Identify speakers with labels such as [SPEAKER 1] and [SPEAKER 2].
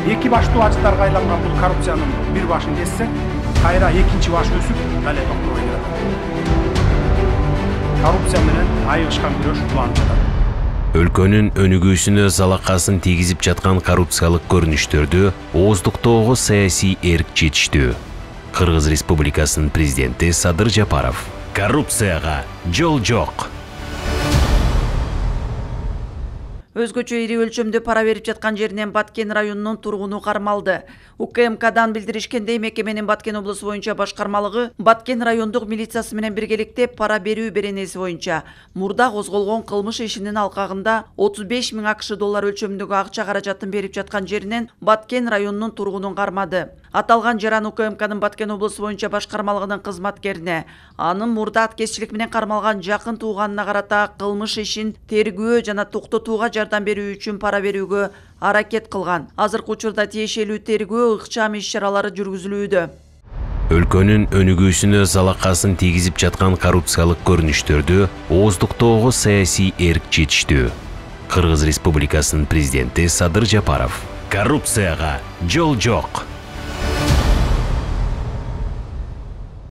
[SPEAKER 1] Эки баштуу ажыттарга айланган бул коррупциянын бир башын кессек, кайра экинчи баш өсүп, дале токтобой келет. Коррупция менен айыгышкан күрөш уланып жатат.
[SPEAKER 2] Өлкөнүн өнүгүүсүнө залакасын тийгизип жаткан коррупциялык көрүнүштөрдү ооздуктоого саясий эрк жетиштүү. Кыргыз Республикасынын президенти Садыр Жапаров: коррупцияга жол жок.
[SPEAKER 3] Өзгөчө ири өлчөмдө пара берип жаткан жеринен Баткен районунун тургуну кармалды. УКМКдан билдиришкендей, мекеменин Баткен облусу боюнча башкармалыгы Баткен райондук милициясы менен биргеликте пара берүү беренеси боюнча мурда козголгон кылмыш ишинин алкагында 35 000 АКШ доллар өлчөмүндөгү акча каражатын берип жаткан жеринен Баткен районунун тургунун кармады. Аталган жаран УКМКнын Баткен облусу боюнча башкармалыгынын кызматкерине, анын мурда аткезчилик менен кармалган жакын тууганына карата кылмыш ишин тергөө жана токтотууга жардам берүү үчүн пара берүүгө аракет кылган. Азыркы учурда тиешелүү тергөө ыкчам иш-чаралары жүргүзүлүүдө.
[SPEAKER 2] Өлкөнүн өнүгүүсүнө залакасын тийгизип жаткан коррупциялык көрүнүштөрдү ооздуктоого саясий эрк жетиштүү. Кыргыз Республикасынын президенти Садыр Жапаров: коррупцияга жол жок.